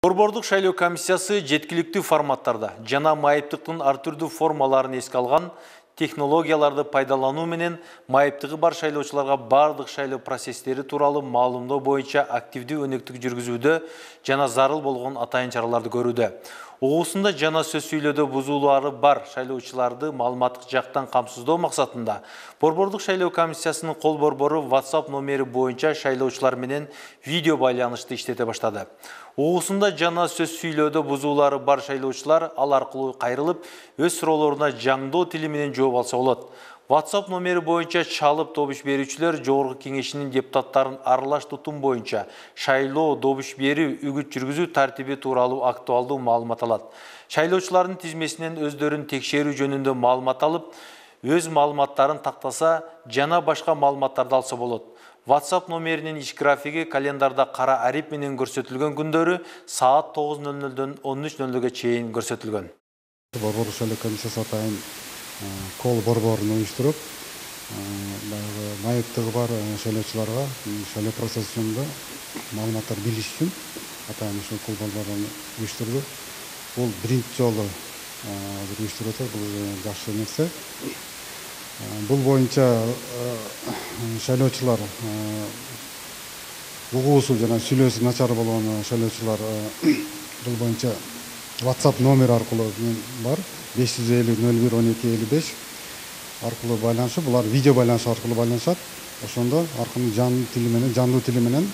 Борбордук шайлоо комиссиясы жеткиликтүү форматтарда жана майыптыктын ар түрдүү формаларын эске алган технологияларды пайдалануу менен майыптыгы бар шайлоочуларга бардык шайлоо процесстери тууралуу маалымдоо боюнча активдүү өнөктүк жүргүзүүдө жана зарыл болгон атайын чараларды көрүүдө. Угуусунда жана сөз сүйлөөдө бузуулары бар шайлоочуларды маалыматтык жактан камсыздоо максатында Борбордук шайлоо комиссиясынын кол борбору WhatsApp номери боюнча шайлоочулар менен видео байланышты иштете баштады. Угуусунда жана сөз сүйлөөдө бузуулары бар шайлоочулар ал аркылуу кайрылып, өз суроолоруна жаңдоо тили менен жооп алса болот. WhatsApp номери боюнча чалып добуш берүүчүлөр Жогорку Кеңешинин депутаттарын аралаш тутум боюнча шайлоо, добуш берүү, үгүт жүргүзүү тартиби тууралуу актуалдуу маалымат алат. Шайлоочулардын тизмесинен өздөрүн текшерүү жөнүндө маалымат алып, өз маалыматтарын тактаса жана башка маалыматтарды алса болот. WhatsApp номеринин иш графиги календарда кара арип менен көрсөтүлгөн күндөрү саат 9:00-дөн 13:00-га чейин көрсөтүлгөн. Борбордук шайлоо комиссиясы атайын кол борборун уюштуруп, майыптыгы бар шайлоочуларга шайлоо процессинде маалыматтар билиш үчүн атайын ушул кол борборун уюштурду. Бул биринчи жолу уюштуруп атат, бул жакшы нерсе. Бул боюнча шайлоочулар угуусу жана сүйлөөсү начар болгон шайлоочулар бул боюнча WhatsApp номер аркылуу бар 550-01-12-55 аркылуу байланышып, булар видео байланыш аркылуу байланышат. Ошондо аркылуу жандуу тили менен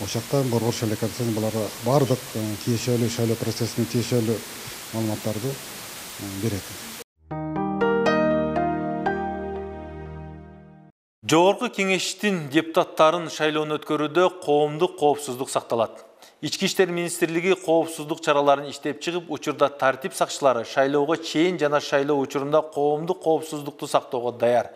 ошакта борбор шайлоо комиссиясы буларга бардык тиешелүү шайлоо процессине тиешелүү маалыматтарды берет. Жогорку Кеңештин депутаттарын шайлоону өткөрүүдө коомдук коопсуздук сакталат. Ички иштер министрлиги коопсуздук чараларын иштеп чыгып, учурда тартип сакчылары шайлоого чейин жана шайлоо учурунда коомдук коопсуздукту сактоого даяр.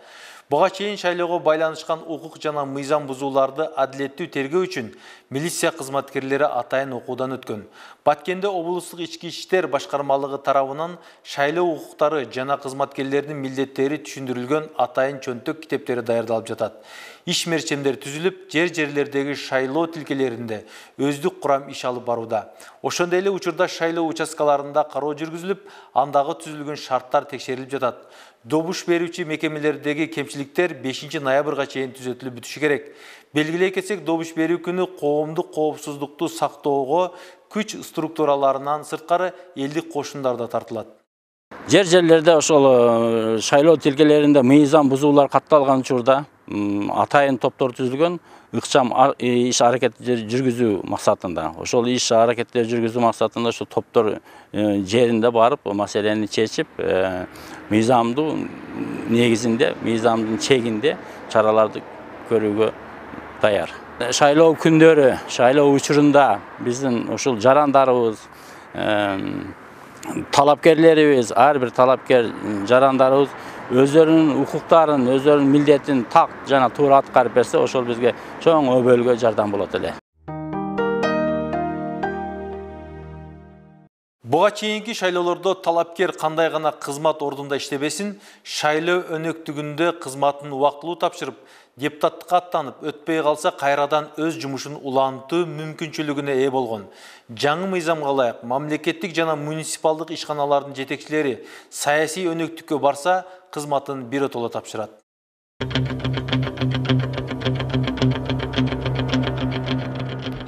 Буга чейин шайлоого байланышкан укук жана мыйзам бузууларды адилеттүү тергөө үчүн милиция кызматкерлери атайын окуудан өткөн. Баткенде облустук ички иштер башкармалыгы тарабынан шайлоо укуктары жана кызматкерлердин милдеттери түшүндүрүлгөн атайын чөнтөк китептери даярдалып жатат. Иш мерчемдер түзүлүп, жерлердеги шайлоо тилкелеринде өздүк курам иш алып барууда. Ошондой эле учурда шайлоо участкаларында кароо жүргүзүлүп, андагы түзүлгөн шарттар текшерилип жатат. Добуш берүүчү мекемелердеги кемчиликтер 5 ноябрга чейин түзөтүлүп бүтүшү керек. Белгилей кетсек, добуш берүү күнү коомдук коопсуздукту сактоого күч структураларынан сырткары элдик кошундар да тартылат. Жерлерде ошол шайлоо тилкелеринде мыйзам бузуулар катталган учурда атайын топтор түзүлгөн, ыкчам иш аракет жүргүзүү максатында. Ошол иш аракеттер жүргүзүү максатында ошол топтор жеринде барып, маселени чечип, мыйзамдуу негизинде, мыйзамдын чегинде чараларды көрүүгө даяр. Шайлоо күндөрү, шайлоо учурунда биздин ушул жарандарыбыз, талапкерлерибиз, ар бир талапкер жарандарыбыз өздөрүнүн укуктарын, өздөрүнүн милдетин так жана туура аткарып берсе, ошол бизге чоң өбөлгө жардам болот эле. Буга чейинки шайлоолордо талапкер кандай гана кызмат ордунда иштебесин, шайлоо өнөктүгүндө кызматын убактылуу тапшырып, депутаттыкка аттанып, өтпөй калса кайрадан өз жумушун улантуу мүмкүнчүлүгүнө ээ болгон. Жаңы мыйзамга ылайык мамлекеттик жана муниципалдык ишканалардын жетекчилери саясий өнөктүккө барса, кызматын биротоло тапшырат.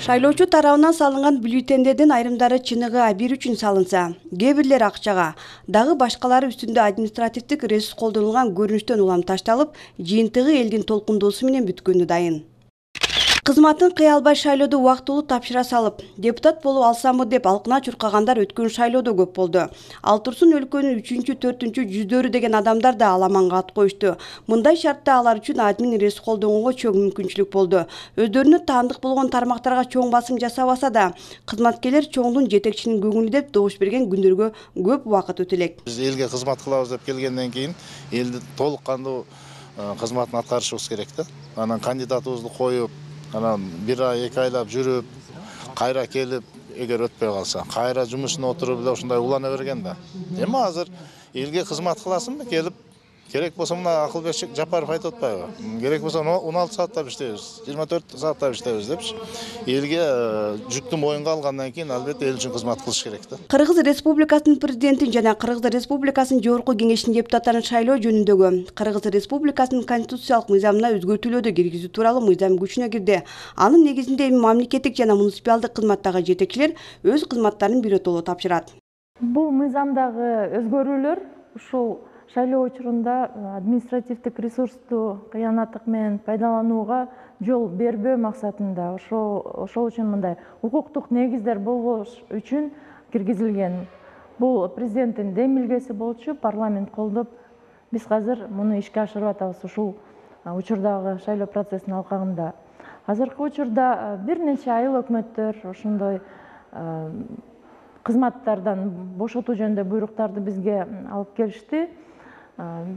Шайлоочу тарабынан салынган бюллетендердин айрымдары чыныгы А1 үчүн салынса, кээ бирлери акчага, дагы башкалары үстүндө административдик ресурс колдонулган көрүнүштөн улам ташталып, жыйынтыгы элдин толкундоосу менен бүткөнү дайын. Кызматын кыя албай шайлоодо убактылуу тапшыра салып, депутат болуп алсамбы деп алкына чуркагандар өткөн шайлоодо көп болду. Ал турсун өлкөнүн 3-4 жүздөрү деген адамдар да аламанга ат коюшту. Мындай шартта алар үчүн админ ресурс колдонууга чоң мүмкүнчүлүк болду. Өздөрүнө таандык болгон тармактарга чоң басым жасабаса да, кызматкерлер чоңдун жетекчинин көңүлү деп добуш берген күндөргө көп убакыт өтө элек. Биз элге кызмат кылабыз деп келгенден кийин элди толук кандуу кызматын аткарышыбыз керек да. Анан кандидатыбызды коюп, анан 1 ай 2 айлап жүрүп, кайра келип, эгер өтпөй калса, кайра жумушуна отуруп эле ушундай улана берген да. Эми азыр элге кызмат кыласыңбы келип, Керек болсо мына Акылбек Жапаров айтып атпайбы? Керек болсо 16 сааттап иштейбиз, 24 сааттап иштейбиз депчи. Элге жүктү моюнга алгандан кийин албетте эл үчүн кызмат кылыш керек да. Кыргыз Республикасынын президентин жана Кыргыз Республикасынын жогорку кеңешинин депутаттарын шайлоо жөнүндөгү Кыргыз Республикасынын конституциялык мыйзамына өзгөртүүлөрдү киргизүү тууралуу мыйзам күчүнө кирди. Анын негизинде эми мамлекеттик жана муниципалдык кызматтагы жетекчилер өз кызматтарын биротоло тапшырат. Бул мыйзамдагы өзгөрүүлөр ушул шайлоо учурунда административдик ресурсту кыянаттык менен пайдаланууга жол бербөө максатында ошол үчүн мындай укуктук негиздер болбош үчүн киргизилген. Бул президенттин демилгеси болчу, парламент колдоп, биз азыр муну ишке ашырып атабыз ушул учурдагы шайлоо процессинин алкагында. Азыркы учурда бир нече айыл өкмөттөр ошондой кызматтардан бошотуу жөнүндө буйруктарды бизге алып келишти.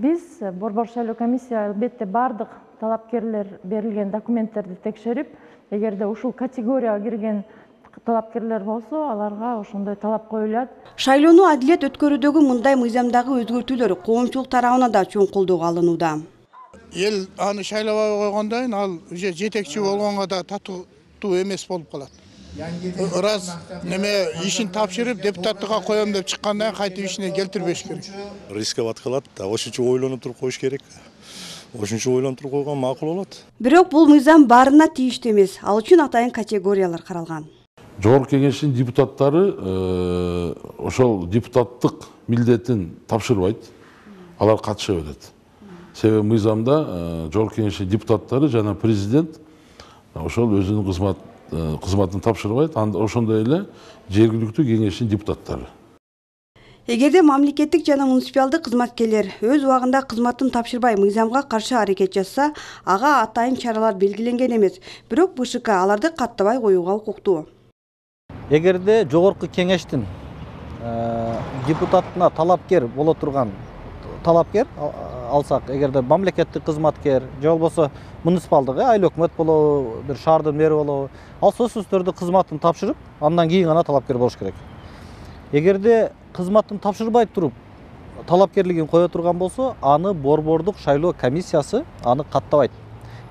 Биз Борбор шайлоо комиссия албетте бардык талапкерлер берилген документтерди текшерип, эгерде ушул категорияга кирген талапкерлер болсо, аларга ошондой талап коюлат. Шайлоону адилет өткөрүүдөгү мындай мыйзамдагы өзгөртүүлөр коомчулук тарабынан да чоң колдоого алынууда. Эл аны шайлабай койгондон кийин ал уже жетекчи болгонго да татуу эмес болуп калат. Раз неме ишин тапшырып депутаттыкка коем деп чыккандан кайтып ишине келтирбеш керек. Рисковать кылат, ошончо ойлонуп туруп коюш керек. Ошончо ойлонуп туруп койгон макул болот. Бирок бул мыйзам баарына тийиштүү эмес. Ал үчүн атайын категориялар каралган. Жогорку кеңештин депутаттары ошол депутаттык милдетин тапшырбайт. Алар катышып атат. Себеби мыйзамда жогорку кеңештин депутаттары жана президент ошол өзүнүн кызматын тапшырбайт, ошондой эле жергиликтүү кеңештин депутаттары. Эгерде мамлекеттик жана муниципалдык кызматкерлер өз убагында кызматын тапшырбай мыйзамга каршы аракет жасса, ага атайын чаралар белгиленген эмес. Бирок БШК аларды каттабай коюуга укуктуу. Эгерде жогорку кеңештин депутатына талапкер боло турган талапкер алсак, эгерде мамлекеттик кызматкер же болбосо муниципалдык айыл өкмөт болобу, бир шаардын мэри болобу, ал сөзсүз түрдө кызматын тапшырып, андан кийин гана талапкер болуш керек. Эгерде кызматын тапшырбай туруп талапкерлигин кое турган болсо, аны борбордук шайлоо комиссиясы аны каттабайт.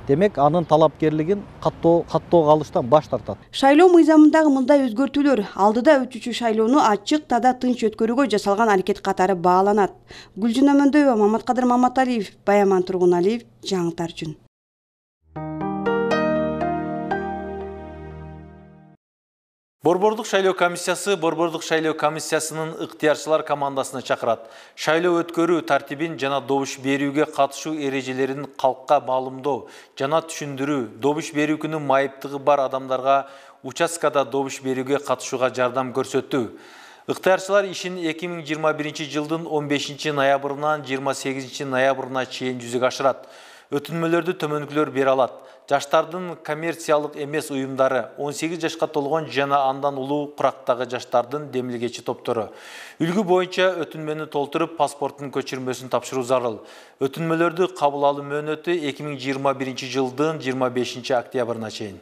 Демек, анын талапкерлигин каттоого алыштан баш тартат. Шайлоо мыйзамындагы мындай өзгөртүүлөр алдыда өтүүчү шайлоону ачык, тада, тынч өткөрүүгө жасалган аракет катары бааланат. Гүлжүн Амандөева, Маматкадыр Маматалиев, Баяман Тургуналиев, жаңылыктар үчүн. Борбордук шайлоо комиссиясынын ыктыярчылар командасына чакырат. Шайлоо өткөрүү тартибин жана добуш берүүгө катышуу эрежелерин калкка маалымдоо жана түшүндүрүү, добуш берүү күнү майыптыгы бар адамдарга участкада добуш берүүгө катышууга жардам көрсөттү. Ыктыярчылар ишин 2021 жылдын 15 ноябрынан 28 ноябрына чейин жүзөгө ашырат. Өтүнмөлөрдү төмөнкүлөр бере алат. Жаштардын коммерциялык эмес уюмдары, 18 жашка толгон жана андан улуу курактагы жаштардын демилгечи топтору. Үлгү боюнча өтүнмөнү толтуруп, паспорттун көчүрмөсүн тапшыруу зарыл. Өтүнмөлөрдү кабыл алуу мөөнөтү 2021 жылдын 25 октябрына чейин.